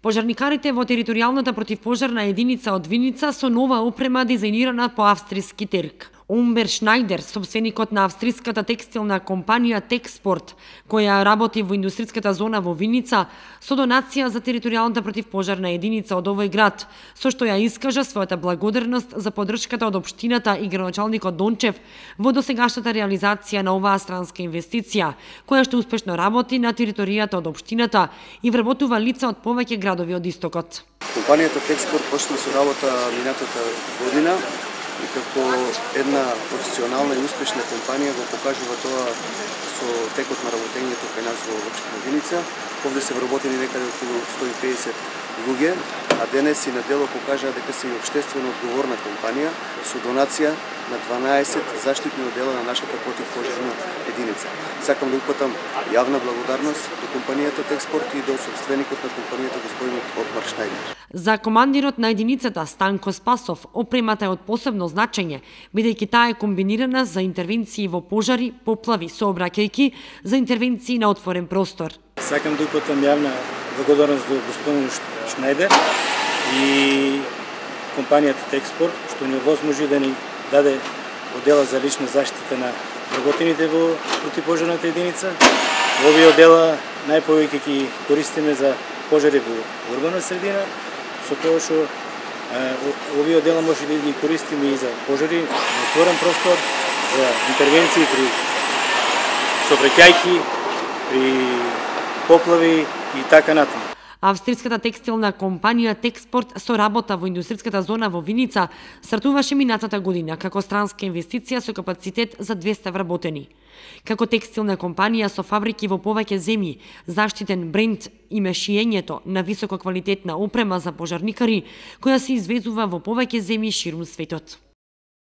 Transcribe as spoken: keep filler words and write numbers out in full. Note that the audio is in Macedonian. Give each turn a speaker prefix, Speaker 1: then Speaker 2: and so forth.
Speaker 1: Пожарникарите во територијалната противпожарна единица од Виница со нова опрема дизајнирана по австријски терк. Умбер Шнајдер, собственикот на австриската текстилна компанија Текспорт, која работи во индустриската зона во Виница, со донација за територијалната противпожарна единица од овој град, со што ја искажа својата благодарност за поддршката од општината и градоначалникот Дончев во досегашната реализација на оваа странска инвестиција, која што успешно работи на територијата од општината и вработува лица од повеќе градови од истокот.
Speaker 2: Компанијата Текспорт почна со работа минатата година и како една професионална и успешна компанија го покажува тоа со текот на работењето кај нас во општина Виница. Овде се вработени некаде околу сто и педесет луѓе, а денес и на дело покажаа дека се и општествено одговорна компанија со донација на дванаесет заштитни оддела на нашата противпожарна единица. Сакам да упатам јавна благодарност до компанијата Текспорт и до собственикот на компанијата господинот Умбер Шнајдер.
Speaker 1: За командирот на единицата Станко Спасов, опремата е од посебно значење, бидејќи таа е комбинирана за интервенции во пожари, поплави, сообраќајки за интервенции на отворен простор.
Speaker 3: Сакам да упатам јавна благодарност до господин Шнајдер и компанијата Текспорт, што ни овозможи да ни даде оддела за лична заштита на вработените во противпожарната единица. Овие оддела најповеќе ги користиме за пожари во урбана средина, со тоа што овие оддела може да ги користиме и за пожари на отворен простор, за интервенции при сообраќајки, при поплави и така натаму.
Speaker 1: Австриската текстилна компанија Текспорт со работа во индустриската зона во Виница стартуваше минатата година како странска инвестиција со капацитет за двеста вработени. Како текстилна компанија со фабрики во повеќе земји, заштитен бренд и мешиењето на висококвалитетна опрема за пожарникари, која се извезува во повеќе земји ширум светот.